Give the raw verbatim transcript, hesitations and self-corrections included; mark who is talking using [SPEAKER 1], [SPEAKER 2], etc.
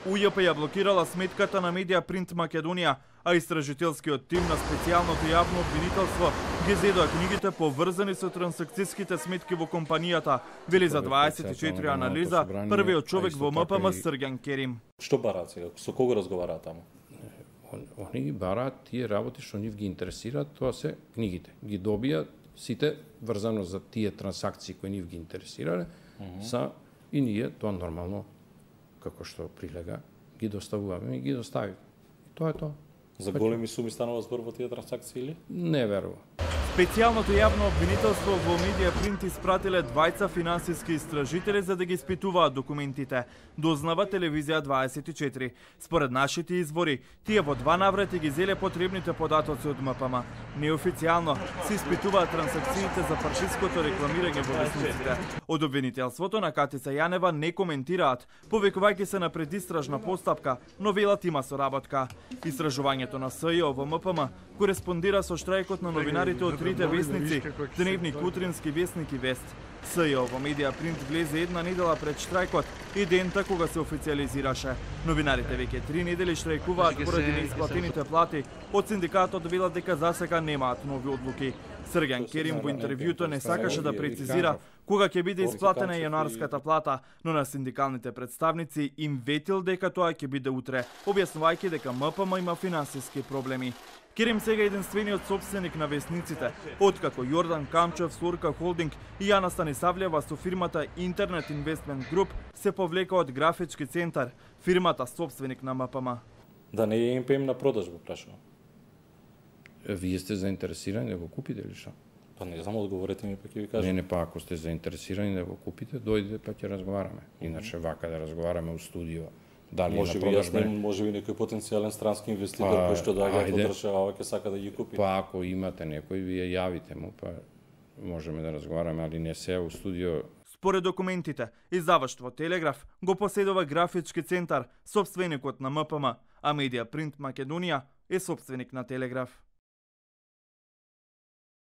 [SPEAKER 1] У Ј П ја блокирала сметката на Медија Принт Македонија, а истражителскиот тим на специјалното јавно обвинителство ги зедоа книгите поврзани со трансакцијските сметки во компанијата, вели за дваесет и четири анализа првиот човек во М П М Срѓан Керим.
[SPEAKER 2] Што бараат сега? Со кого разговараат таму?
[SPEAKER 3] Они ги бараат тие работи што нив ги интересираат, тоа се книгите. Ги добија сите врзано за тие трансакции кои нив ги интересирале, uh -huh. са и ние тоа нормално како што прилега ги доставуваме и ги доставиме. Тоа е тоа.
[SPEAKER 2] За големи суми станува збор во тие трансакции или?
[SPEAKER 3] Не верувам.
[SPEAKER 1] Специјалното јавно обвинителство во Медија Принт испратиле двајца финансиски истражители за да ги испитуваат документите, дознава телевизија дваесет и четири. Според нашите извори, тие во два наврати ги зеле потребните податоци од М П М. Неофицијално се испитуваат трансакциите за фашисткото рекламирање во весниците. Од обвинителството на Катица Јанева не коментираат, повикувајќи се на предистражна постапка, но велат има соработка. Истражувањето на С Ј О во М П М кореспондира со штрајкот на новинарите од трите весници, Дневник, Утрински весник и Вест. С Ј О во Медија Принт влезе една недела пред штрајкот и дента кога се официјализираше. Новинарите веќе три недели штрајкуваат поради неисплатените плати, од синдикатот велат дека засега немаат нови одлуки. Срѓан Керим во интервјуто не сакаше да прецизира кога ќе биде исплатена јануарската плата, но на синдикалните представници им ветил дека тоа ќе биде утре, објаснувајќи дека М П М има финансиски проблеми. Керим сега е единствениот собственик на весниците, откако Јордан Камчев, Слорка Холдинг и Јана Станисављева со фирмата Интернет Инвестмент Груп се повлека од Графички центар, фирмата собственик на М П М.
[SPEAKER 2] Да не е М П М на продажба, прашувам.
[SPEAKER 3] Вие сте заинтересирани да го купите или што?
[SPEAKER 2] Па не знам, одговорете ми, па ќе ви кажам.
[SPEAKER 3] Не, не, па ако сте заинтересирани да го купите, дојдете па ќе разговараме. Иначе вака да разговараме у студио. Дали
[SPEAKER 2] може би јас не, може би некој потенцијален странски инвеститор па, кој што доаѓа од држава ќе сака да ги купи.
[SPEAKER 3] Па ако имате некој, вие јавите му, па можеме да разговараме, али не се у студио.
[SPEAKER 1] Според документите, издаваштво Телеграф го поседува Графички центар, собственикот на М П М, а Медија Принт Македонија е собственик на Телеграф.